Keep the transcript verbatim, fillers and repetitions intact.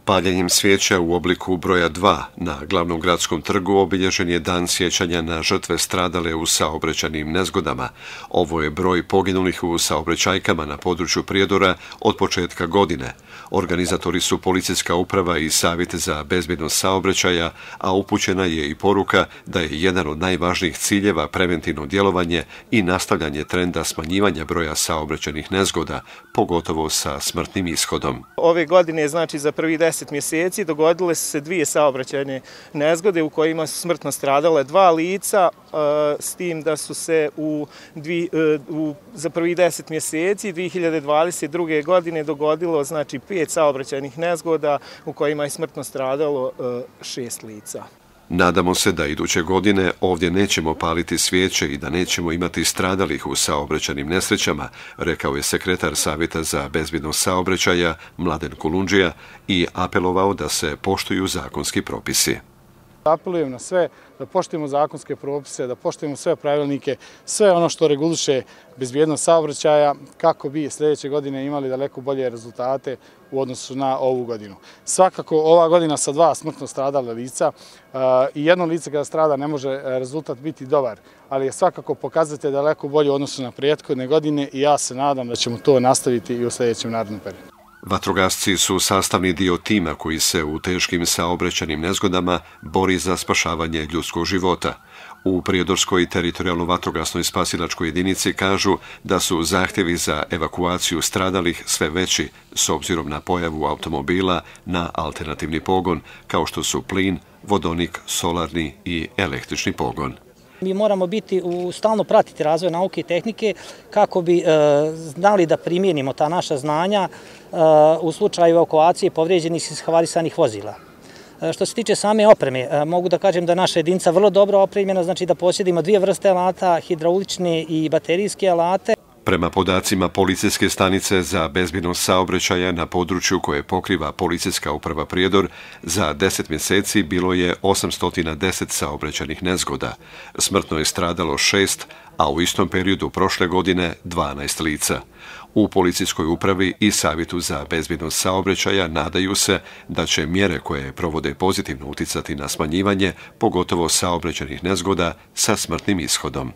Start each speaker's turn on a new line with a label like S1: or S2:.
S1: Paljenjem svijeća u obliku broja dva na glavnom gradskom trgu obilježen je dan sjećanja na žrtve stradale u saobraćajnim nezgodama. Ovo je broj poginulih u saobraćajkama na području Prijedora od početka godine. Organizatori su policijska uprava i Savjet za bezbjednost saobraćaja, a upućena je i poruka da je jedan od najvažnijih ciljeva preventivno djelovanje i nastavljanje trenda smanjivanja broja saobraćajnih nezgoda, pogotovo sa smrtnim ishodom.
S2: Ove godine, znači za prvih deset mjeseci, dogodile su se dvije saobraćajne nezgode u kojima su smrtno stradale dva lica, s tim da su se u, dvi, u za prvih deset mjeseci dvije hiljade dvadeset druge. godine dogodilo znači pet saobraćajnih nezgoda u kojima je smrtno stradalo šest lica.
S1: Nadamo se da iduće godine ovdje nećemo paliti svijeće i da nećemo imati stradalih u saobraćajnim nesrećama, rekao je sekretar Savjeta za bezbjednost saobraćaja Mladen Kulundžija i apelovao da se poštuju zakonski propisi.
S3: Apelujem na sve da poštujemo zakonske propise, da poštujemo sve pravilnike, sve ono što reguliše bezbjednost saobraćaja kako bi sljedeće godine imali daleko bolje rezultate u odnosu na ovu godinu. Svakako ova godina sa dva smrtno stradala lica i jedno lice kada strada ne može rezultat biti dobar, ali je svakako pokazatelj daleko bolje u odnosu na prethodne godine i ja se nadam da ćemo to nastaviti i u sljedećem narednom periodu.
S1: Vatrogasci su sastavni dio tima koji se u teškim saobraćajnim nezgodama bori za spašavanje ljudskog života. U Prijedorskoj teritorijalno vatrogasnoj spasilačkoj jedinici kažu da su zahtjevi za evakuaciju stradalih sve veći s obzirom na pojavu automobila na alternativni pogon, kao što su plin, vodonik, solarni i električni pogon.
S4: Mi moramo biti u stalno pratiti razvoj nauke i tehnike kako bi e, znali da primijenimo ta naša znanja e, u slučaju evakuacije povrijeđenih i havarisanih vozila. E, što se tiče same opreme, e, mogu da kažem da naša jedinica vrlo dobro opremljena, znači da posjedimo dvije vrste alata, hidraulične i baterijske alate.
S1: Prema podacima policijske stanice za bezbjednost saobraćaja na području koje pokriva policijska uprava Prijedor, za deset mjeseci bilo je osamsto deset saobraćajnih nezgoda. Smrtno je stradalo šest, a u istom periodu prošle godine dvanaest lica. U policijskoj upravi i Savjetu za bezbjednost saobraćaja nadaju se da će mjere koje provode pozitivno uticati na smanjivanje, pogotovo saobraćajnih nezgoda sa smrtnim ishodom.